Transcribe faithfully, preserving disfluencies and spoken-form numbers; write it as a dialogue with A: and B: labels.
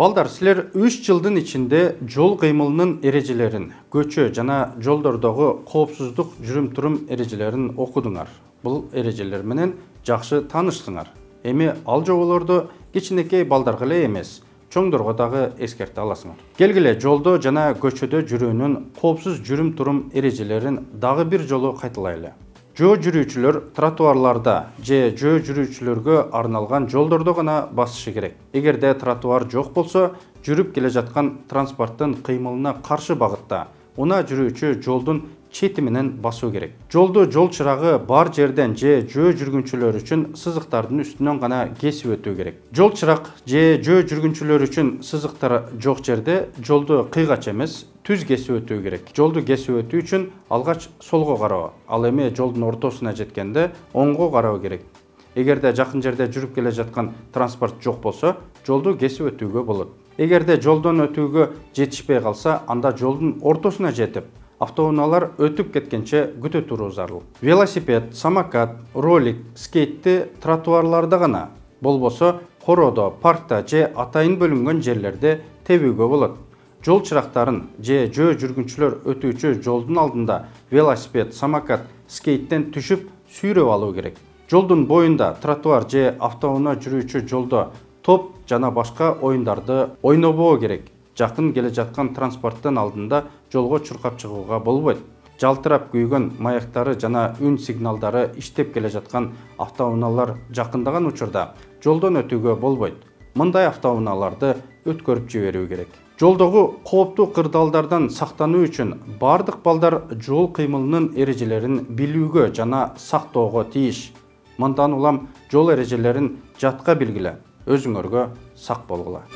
A: Балдар, силер үч жылдын ичинде жол кыймылынын эрежелерин, көчө жана жолдордогу коопсуздук жүрүм-турум эрежелерин окудуңар. Бул эрежелер менен жакшы тааныштыңар. Эми ал жоболорду кичинекей балдарга эле эмес, чоңдорго дагы эскерте аласыңар. Келгиле жолдо жана көчөдө жүрүүнүн коопсуз жүрүм-турум эрежелерин дагы бир жолу кайталайлы. Жөө жүрүүчүлөр тротуарларда же жөө жүрүүчүлөргө арналган жолдордо гана басышы керек. Эгерде тротуар жок болсо, жүрүп келе жаткан транспорттун кыймылына каршы багытта унаа жүрүүчү жолдун чети менен басуу керек. Жолду жол чырагы бар жерден же жөө жүргүнчүлөр үчүн сызыктардын үстүнөн гана кесип өтүү керек. Жол чырак же жөө жүргүнчүлөр үчүн сызыктар жок жерде жолду кыйгач эмес, түз кесип өтүү керек. Жолду кесип өтүү үчүн алгач солго кароо, ал эми жолдун ортосуна жеткенде оңго кароо керек. Эгерде жакын жерде жүрүп келе жаткан транспорт жок болсо, жолду кесип өтүүгө болот. Эгерде жолдон өтүүгө жетишпей калса, анда жолдун ортосуна жетип, автоунаалар өтүп кеткенче күтө туруу зарыл. Велосипед, самокат, ролик, скейтти тротуарларда гана, болбосо короодо, паркта же атайын бөлүнгөн жерлерде тебүүгө болот. Жол чырактарын же жөө жүргүнчүлөр өтүүчү жолдун алдында велосипед, самокат, скейттен түшүп сүйрөп алуу керек. Жолдун боюнда тротуар же автоунаа жүрүүчү жолдо топ жана башка оюндарды ойнобоо керек. Жакын келе жаткан транспорттун алдында жолго чуркап чыгууга болбойт. Жалтырап күйгөн маяктары жана үн сигналдары иштеп келе жаткан автоунаалар жакындаган учурда жолдон өтүүгө болбойт. Мындай автоунааларды өткөрүп жиберүү керек. Жолдогу кооптуу кырдаалдардан сактануу үчүн бардык балдар жол кыймылынын эрежелерин билүүгө жана сактоого тийиш. Мындан улам жол эрежелерин жатка билгиле, өзүңөргө сак болгула.